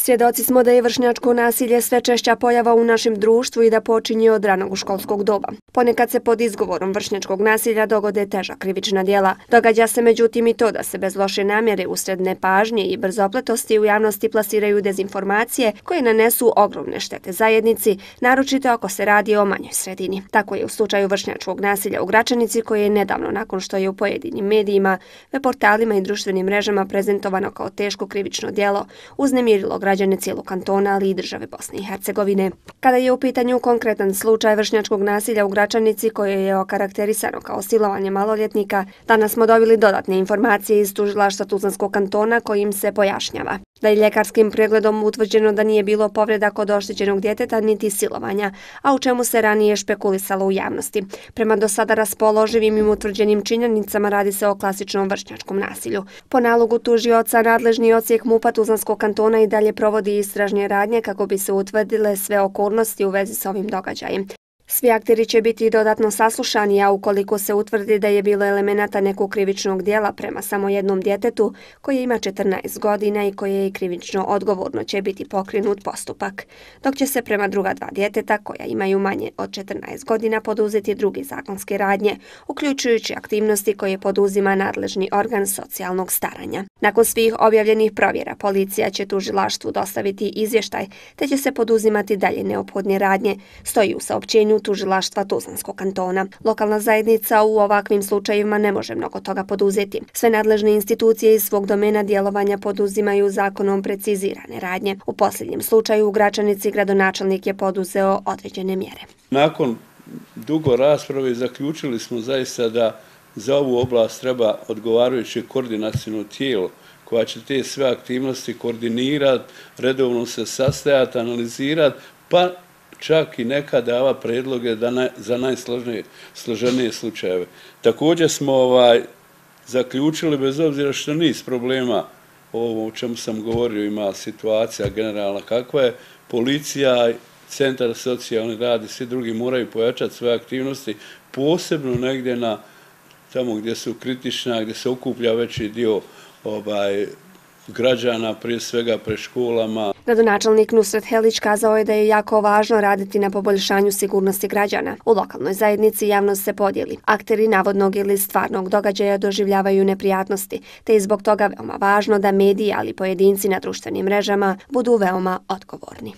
Svjedoci smo da je vršnjačko nasilje sve češća pojava u našem društvu i da počinje od ranog školskog doba. Ponekad se pod izgovorom vršnjačkog nasilja dogode teža krivična djela. Događa se međutim i to da se bez loše namjere usred nepažnje i brzopletosti u javnosti plasiraju dezinformacije koje nanesu ogromne štete zajednici, naročito ako se radi o manjoj sredini. Tako je u slučaju vršnjačkog nasilja u Gračanici, koje je nedavno nakon što je u pojedinim medijima, web portalima i društvenim mrežama prezentovano kao teško krivično djelo, uznemirilo građane cijelog kantona, ali i države Bosne i Hercegovine. Kada je u pitanju konkretan slučaj vršnjačkog nasilja u Gračanici, koje je okarakterisano kao silovanje maloljetnika, danas smo dobili dodatne informacije iz tužilaštva Tuzlanskog kantona kojim se pojašnjava da je ljekarskim pregledom utvrđeno da nije bilo povreda kod oštećenog djeteta niti silovanja, a u čemu se ranije špekulisalo u javnosti. Prema do sada raspoloživim i utvrđenim činjenicama radi se o klasičnom vršnjačkom nasilju. Po nalogu tužioca, nadležni odsjek MUP-a Tuzlanskog kantona i dalje provodi istražne radnje kako bi se utvrdile sve okolnosti u vezi s ovim događajem. Svi akteri će biti dodatno saslušani, a ukoliko se utvrdi da je bilo elemenata nekog krivičnog djela prema samo jednom djetetu koje ima 14 godina i koje je krivično odgovorno, će biti pokrenut postupak, dok će se prema druga dva djeteta koja imaju manje od 14 godina poduzeti druge zakonske radnje, uključujući aktivnosti koje poduzima nadležni organ socijalnog staranja. Nakon svih objavljenih provjera, policija će tužilaštvu dostaviti izvještaj, te će se poduzimati dalje neophodne radnje, stoji u saopćenju tužilaštva Tuzlanskog kantona. Lokalna zajednica u ovakvim slučajevima ne može mnogo toga poduzeti. Sve nadležne institucije iz svog domena djelovanja poduzimaju zakonom precizirane radnje. U posljednjem slučaju u Gračanici gradonačelnik je poduzeo određene mjere. Nakon dugo rasprave zaključili smo zaista da za ovu oblast treba odgovarajuće koordinaciono tijelo koja će te sve aktivnosti koordinirati, redovno se sastajati, analizirati, pa čak i nekad dava predloge za najsloženije slučajeve. Također smo zaključili, bez obzira što niz problema, ovo o čemu sam govorio, ima situacija generalna kakva je, policija, centar socijalni rad i svi drugi moraju pojačati svoje aktivnosti, posebno negdje tamo gdje su kritična, gdje se okuplja veći dio građana, prije svega pred školama. Gradonačelnik Nusret Helić kazao je da je jako važno raditi na poboljšanju sigurnosti građana. U lokalnoj zajednici javnost se podijeli. Akteri navodnog ili stvarnog događaja doživljavaju neprijatnosti, te je zbog toga veoma važno da mediji, ali i pojedinci na društvenim mrežama budu veoma odgovorni.